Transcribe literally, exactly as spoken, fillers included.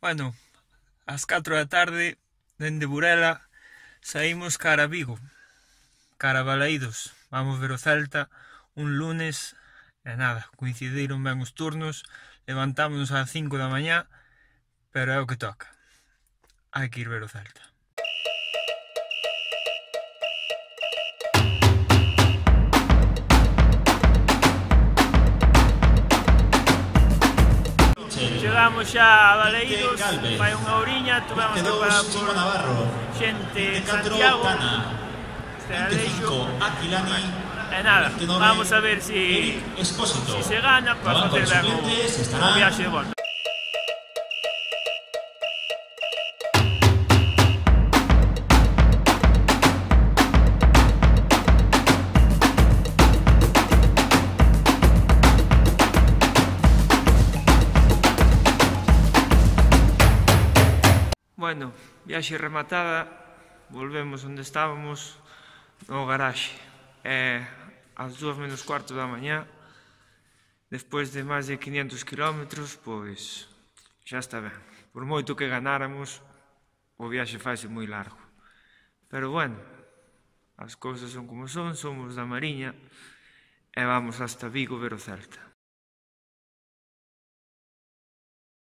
Bueno, ás catro da tarde, dende Burela, saímos cara a Vigo, cara a Balaídos. Vamos ver o Celta un lunes, e nada, coincidiron ben os turnos, levantámonos ás cinco da mañá, pero é o que toca. Hai que ir ver o Celta. Chegamos xa a Balaídos, fai unha horiña, tuvemos que parar por xente de Santiago, este Aleixo, e nada, vamos a ver si, si se gana para facer ben o, o viaxe de volta. Bueno, viaxe rematada, volvemos onde estábamos, no garaxe. É ás dúas menos cuarto da mañá, despois de máis de quinhentos kilómetros, pois xa está ben. Por moito que ganáramos, o viaxe faise moi largo. Pero bueno, as cousas son como son, somos da Mariña, e vamos hasta Vigo ver o Celta.